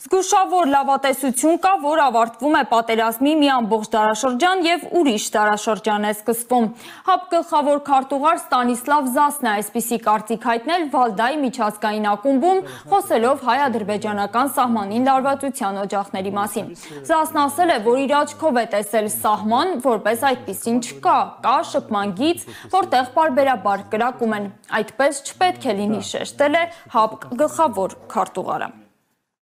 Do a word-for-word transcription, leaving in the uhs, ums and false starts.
Զգուշավոր լավատեսություն կա, որ ավարտվում է պատերազմի մի ամբողջ դարաշրջան և ուրիշ դարաշրջան է սկսվում։ ՀԱՊԿ գլխավոր քարտուղար Ստանիսլավ Զասն է այսպիսի կարծիք հայտնել Վալդայի միջազգային ակումբում, խոսելով հայ-ադրբեջանական սահմանին լարվածության օջախների մասին։ Զասն ասել է, որ իր աչքով է տեսել սահման, որպես այդպիսին չկա, կա շփման գիծ, որտեղ պարբերաբար կրակում են։ Այդպես չպետք է լինի, շեշտել է ՀԱՊԿ գլխավոր քարտուղարը։